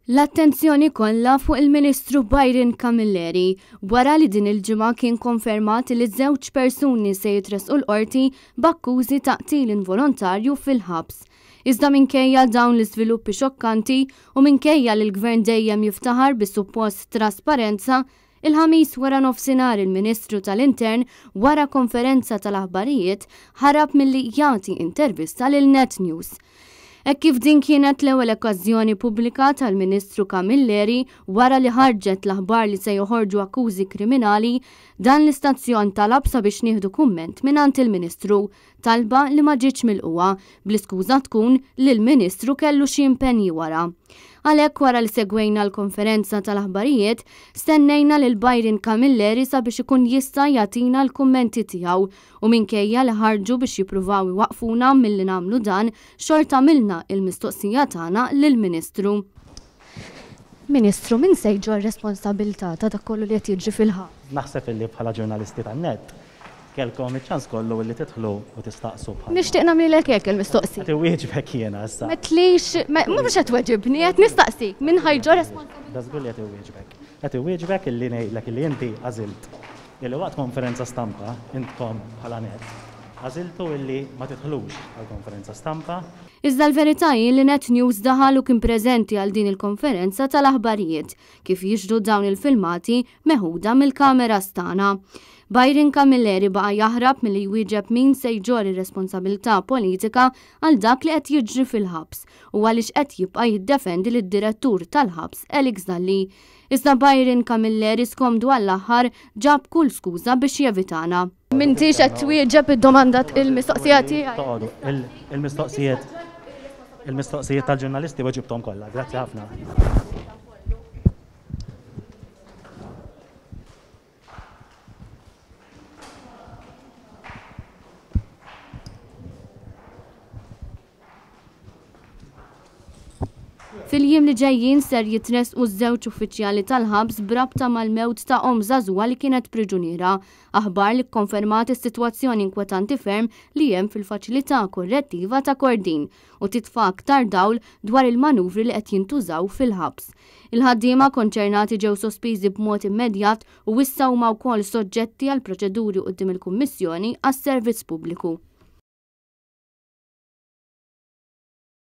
L-attenzjoni kollha fuq il-Ministru Byron Camilleri wara li din il-ġimgħa kien konfermat li żewġ persuni se jitressqu l-qorti b'akkużi ta' qtil involontarju fil-ħabs. Iżda minkejja dawn l-iżviluppi xokkanti u minkejja li l-Gvern dejjem jiftaħar bis-suppost trasparenza, Il-Ħamis waranofsinhar il-Ministru tal-Intern wara konferenza tal-aħbarijiet ħarab milli jagħti intervista lil Net News. Hekk kif din kienet l-ewwel okkażjoni pubblika tal-Ministru Camilleri wara li ħarġet l-aħbar li se joħorġu akkużi kriminali, dan l-istazzjon talab sabiex nieħdu kumment mingħand il-Ministru. Talba li ma ġietx milqugħa, bl-iskuża tkun li l-Ministru kellu xi impenji wara. Għalhekk wara li segwejna l-konferenza tal-aħbarijiet, stennejna lil Byron Camilleri sabiex ikun jista' jagħtina l-kummenti tiegħu u minkejja li ħarġu biex jippruvaw iwaqqfuna milli nagħmlu dan, xorta għamilna il-mistoqsija tagħna lill-Ministru. Ministru, min se jġorr responsabilità ta' dak kollu li qed jiġri fil-ħabs? Naħseb illi bħala ġurnalisti tan-NET Kellkom iċ-ċans kollu illi tidħlu u tistaqsu bħal. Nixtieq nagħmlilek hekk il-mistoqsija. Qed iwieġbek jiena issa. M'għedtlix, mhux qed tweġibni, qed nistaqsik, min ħa jġorr responsabilità? Da żgur li qed iwieġbek. Qed iwieġbek illi ngħidlek illi inti għażilt illi waqt konferenza stampa, intkom bħala net, għażiltu illi ma tidħlux għall-konferenza stampa. Iżda l-verità hi li Net News daħal u kien preżenti għal din il-konferenza tal-aħbarijiet, kif jixhdu dawn il-filmati meħuda mill-kameras tagħna. Byron Camilleri baqa' jaħrab milli jwieġeb min se jġorr ir-responsabilità politika għal dak li qed jiġri fil-ħabs u għaliex qed jibqa' jiddefendi lid-direttur tal-ħabs Alex Dalli. Iżda Byron Camilleri skomdu għall-aħħar ġab kull skuża biex jevitana. M'intix qed twieġeb id-domanda il-mistoqsija tiegħi. Toqogħdu, il-mistoqsijiet il-mistoqsijiet tal-ġurnalisti weġibthom kollha. Grazzi ħafna. Fil-jiem li ġejjin ser jitressqu żewġ uffiċjali tal-ħabs b'rabta mal-mewt ta' omm żagħżugħa li kienet priġuniera. Aħbar li kkonfermat is-sitwazzjoni inkwetanti ferm li hemm fil-faċilità korrettiva ta' Kordin u titfa' aktar dawl dwar il-manuvri li qed jintużaw fil-ħabs. Il-ħaddiema konċernati ġew sospiżi b'mod immedjat u issa huma wkoll soġġetti għal proċeduri quddiem il-Kummissjoni għas-Servizz Pubbliku.